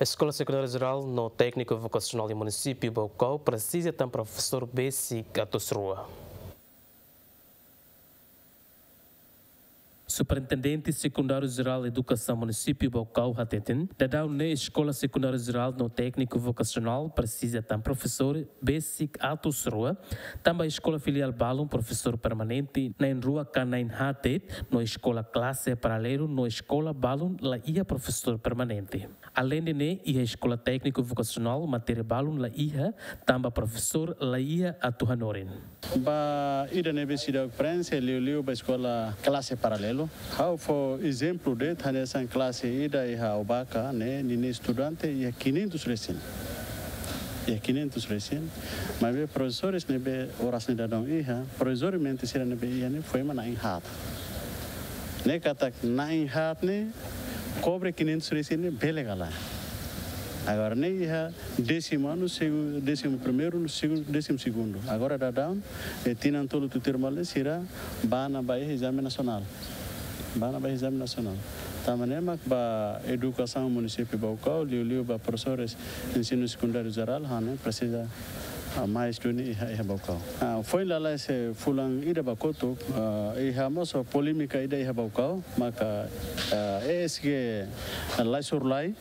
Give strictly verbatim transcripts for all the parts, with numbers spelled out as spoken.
Eskola Sekundáriu Jerál no Tékniku Vokasionál iha munisípiu Baucau presiza tan profesór besik atus rua. Superintendente Sekundáriu Jerál Edukasaun Munisípiu Baucau hateten, daudaun ne'e Eskola Sekundáriu Jerál no Tékniku Vokasionál presiza tan profesór besik atus rua, tanba eskola filiál balun profesór permanente na'in rua ka na'in haat de'it, no eskola klase paralelu no eskola balun la iha profesór permanente. Aleinde ne'e, iha Eskola Tékniku Vokasionál matéria balun la iha, tanba profesór la iha atu hanorin. Ba ida ne'ebé seidauk preenxe, liuliu ba eskola klase paralelu. Ha'u fó ezemplu de'it, hanesan klase ida iha Aubaka ne'e, ninia estudante iha quinhentos resin. Iha quinhentos resin. Maibé profesores ne'ebé oras ne'e daudaun iha, provizoriamente sira ne'ebé iha ne'e foin mak na'in haat. Ne'e katak na'in haat ne'e kobre quinhentos resin ne'e bele ka lae. Agora ne'e iha décimo ano, segu-, décimo primeiro, no segu-, décimo segundo. Agora daudaun, eh, tinan tolu tutuir malu ne'e sira bá ona ba iha ezame nasionál. Bá ona ba iha ezame nasionál. Tanba ne'e mak ba edukasaun munisípiu Baucau, liuliu ba profesores ensinu sekundáriu jerál, ha'u hanoin presiza, ah, mais duni iha, iha Baucau. Ah, foin lalais fulan ida ba kotuk, ah, iha mós polémika ida iha Baucau, maka, ah, E S G Laisurlai,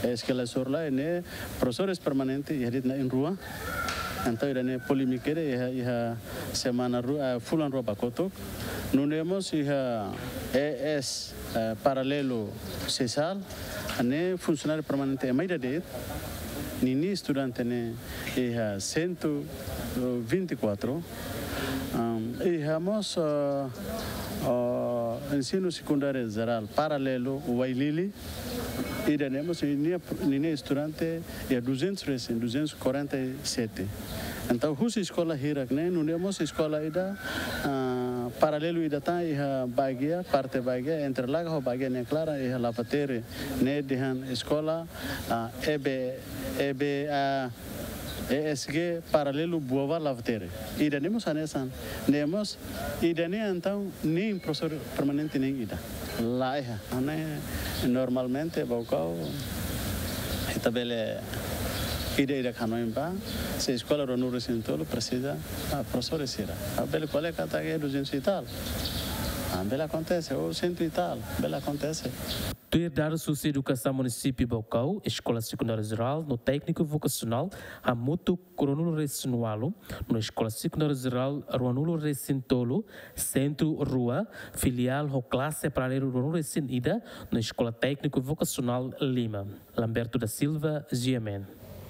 E S G Laisurlai ne'e profesores permanente iha de'it na'in rua. Entaun ida-ne'e polémika ida iha, iha semana rua, ah, fulan rua ba kotuk. Nune'e mós iha E S, eh, paralelu Sesal, ne'e funsionáriu permanente ema ida de'it. Ninia estudante ne'e iha cento e vinte e quatro. Am, iha mós, ah, ah, ensinu sekundáriu jerál paralelu Uailili. Ida-ne'e mós ninia, ninia estudante iha duzentos resin, duzentos e quarenta e sete. Entaun, husi eskola hirak ne'e, nune'e mós eskola ida, ah, paralelu ida tan iha Baguia, parte Baguia, entre Laga ho Baguia nia klaran iha Lavatere, ne'e dehan eskola, ah, E B, E B A, E S G paralelu Buava Lavatere. Ida-ne'e mós hanesan. Ne'e mós, ida-ne'e entaun nein profesór permanente nein ida. La iha. Ne'e normalmente Baucau ita bele ida-idak hanoin ba, se eskola ruanulu resin tolu presiza, ah, profesores sira. Ah, bele ko'alia katak duzentos e tal. Ah, bele akontese, ou cento e tal, bele akontese. Tuir dadus husi Edukasaun Munisípiu Baucau, Eskola Sekundáriu Jerál no Tékniku Vokasionál hamutuk ruanulu resin ualu, no Eskola Sekundáriu Jerál ruanulu resin tolu, sentru rua, filiál ho klase paralelu ruanulu resin ida, no Eskola Tékniku Vokasionál lima. Lamberto da Silva, G M N.